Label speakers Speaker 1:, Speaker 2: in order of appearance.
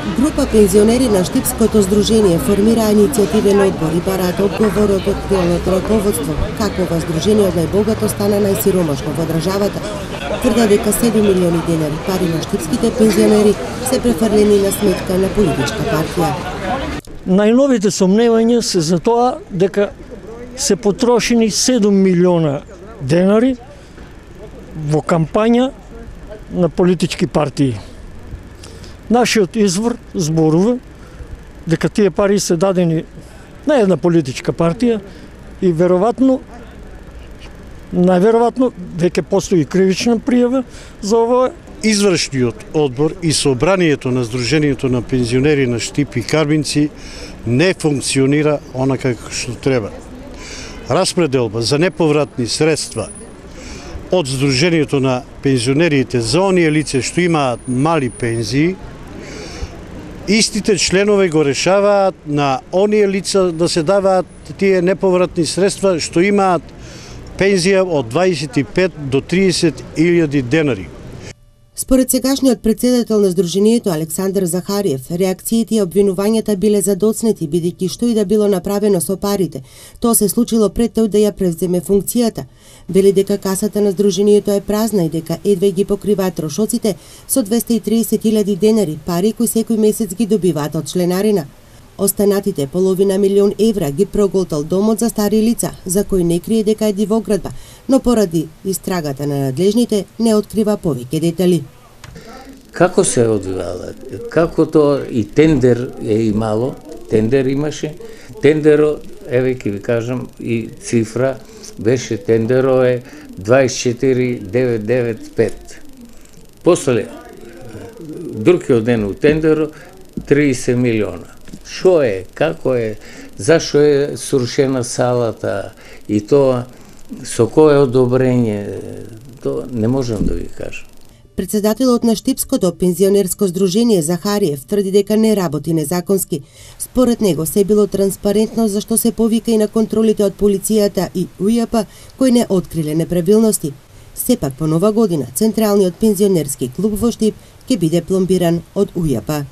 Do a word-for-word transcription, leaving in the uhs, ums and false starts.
Speaker 1: Група пензионери на Штипското здружение формира иницијативен одбор и бараат одговор од актуелното раководство како ова здружение од најбогато стана најсиромашно во државата. Тврдат дека седум милиони денари пари на штипските пензионери се префрлени на сметка на политичка партија.
Speaker 2: Најновите сомневања се за тоа дека се потрошени седум милиона денари во кампања на политички партии. Нашиот извор зборува дека тие пари се дадени на една политичка партија и веројатно, најверојатно, веќе постои кривична пријава за ова.
Speaker 3: Извршниот одбор и собранието на Сдруженијето на пензионери на Штип и Карбинци не функционира онака како што треба. Распределба за неповратни средства од Сдруженијето на пензионерите за оние лица што имаат мали пензии, истите членови го решаваат на оние лица да се даваат тие неповратни средства што имаат пензија од дваесет и пет до триесет илјади денари.
Speaker 1: Според сегашниот претседател на Сдруженијето Александар Захариев, реакциите и обвинувањата биле задоцнети бидејќи што и да било направено со парите, тоа се случило пред тој да ја превземе функцијата. Вели дека касата на Сдруженијето е празна и дека едве ги покриваат трошоците со двесте и триесет илјади денари, пари кои секој месец ги добиваат од членарина. Останатите половина милион евра ги проголтал домот за стари лица, за кој не крие дека е дивоградба, но поради истрагата на надлежните не открива повеќе детали.
Speaker 4: Како се одвивала? Како тоа и тендер е имало, тендер имаше, тендеро, еве ќе ви кажам и цифра, беше тендеро е дваесет и четири девет девет пет. После, другиот ден у тендеро, триесет милиона. Шо е, како е, зашо е срушена салата и тоа, со кое одобрење, тоа не можам да ви кажам.
Speaker 1: Председателот на Штипското пензионерско здружение Захариев тврди дека не работи незаконски. Според него се било транспарентно зашто се повика и на контролите од полицијата и УЈП кои не откриле неправилности. Сепак по нова година Централниот пензионерски клуб во Штип ќе биде пломбиран од УЈП.